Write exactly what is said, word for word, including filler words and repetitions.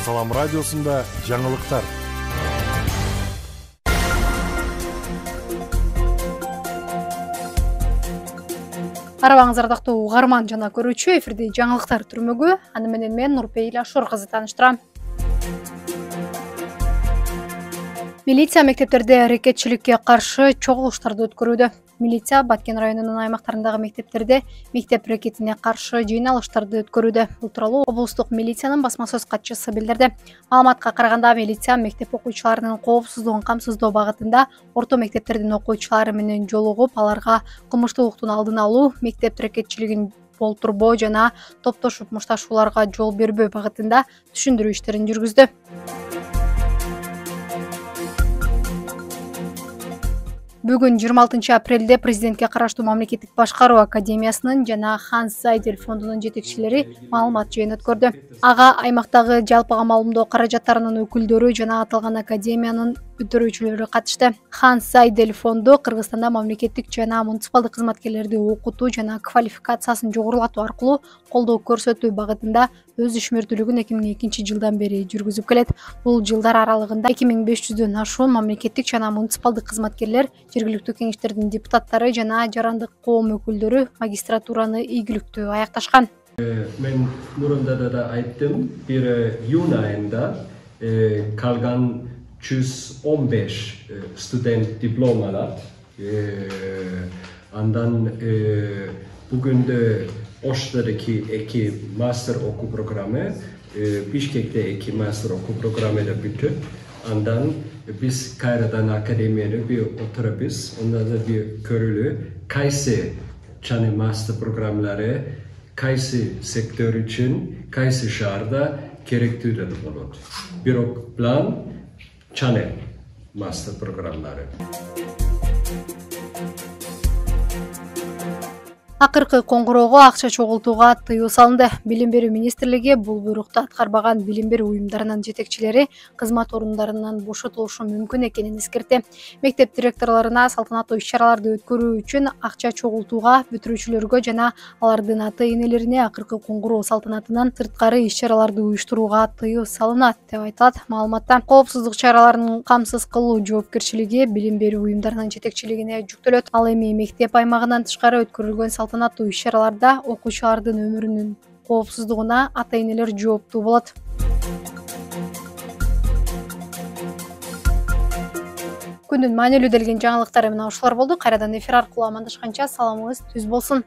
Салам радиосунда жаңылыктар. Арабаңыз ардактуу угарман жана көрүүчү, эфирде жаңылыктар түрмөгү. Аны менен мен Нурпейил Ашур кызы тааныштырам. Милиция мектептерде аракетчиликке каршы чогулуштарды өткөрүүдө. Милиция Баткен районунун аймактарындагы мектептерде мектеп рекетине каршы жыйналыштарды өткөрүүдө. Бул тууралуу облустук милициянын басма сөз катчысы билдирди. Маалыматка караганда, милиция мектеп окуучуларынын коопсуздугун камсыздоо багытында орто мектептердин окуучулары менен жолугуп, аларга кылмыштуулуктун алдын алуу, мектеп рекетчилигин болтурбоо жана топтошуп мушташууларга жол бербөө багытында түшүндүрүү иштерин жүргүздү. Бүгүн жыйырма алтынчы апрелде президентке караштуу мамлекеттик башкаруу академиясынын жана Ханс Зайдель фондунун жетекчилери маалымат жыйын өткөрдү. Ага аймактагы жалпыга маалымдоо каражаттарынын өкүлдөрү жана аталган академиянын өтөрүүчүлөрү катышты. Ханс Зайдель фонду Кыргызстанда мамлекеттик жана муниципалдык кызматкерлерди окутуу жана квалификациясын жогорулатуу аркылуу колдоо көрсөтүү багытында өз ишмердүүлүгүн эки миң экинчи жылдан бери жүргүзүп келет. Бул жылдар аралыгында эки миң беш жүздөн ашуун мамлекеттик жана муниципалдык кызматкерлер, жергиликтүү кеңештердин депутаттары жана жарандык коом өкүлдөрү магистратураны ийгиликтүү аякташкан. Мен мурунда да айттым, бир июнь айында калган жүз он беш студент диплом алат. Андан бүгүндө Оштодоки эки мастер окуу программы, Бишкекте эки мастер окуу программада бүтүп, андан биз кайрадан академияда бир отурабыз, онда да бир көрүлүү кайсы чаны мастер программалары кайсы сектор үчүн, кайсы шаарда керектүү да болот. Бирок план чаны мастер программалары. Акыркы коңгуроого акча чогултууга тыюу салынды. Билим берүү министрлиги бул буйрукту аткарбаган билим берүү уюмдарынын жетекчилери кызмат орундарынан бошотулушу мүмкүн экенин эскертти. Мектеп директорлоруна салтанаттуу иш-чараларды өткөрүү үчүн акча чогултууга, бүтүрүүчүлөргө жана алардын ата-энелерине акыркы коңгуроо салтанатынан сырткары иш-чараларды уюштурууга тыюу салынат деп айтылат маалыматта. Коопсуздук чараларын камсыз кылуу жоопкерчилиги билим берүү уюмдарынын жетекчилигине жүктөлөт. Ал эми мектеп аймагынан тышкары өткөрүлгөн салтанаттуу иш-чараларда окуучулардын өмүрүнүн коопсуздугуна ата-энелер жооптуу болот. Күндүн маанилүү делген жаңылыктары мына ушулар болду. Кайрадан эфир аркылуу амандашканча саламыңыз түз болсун.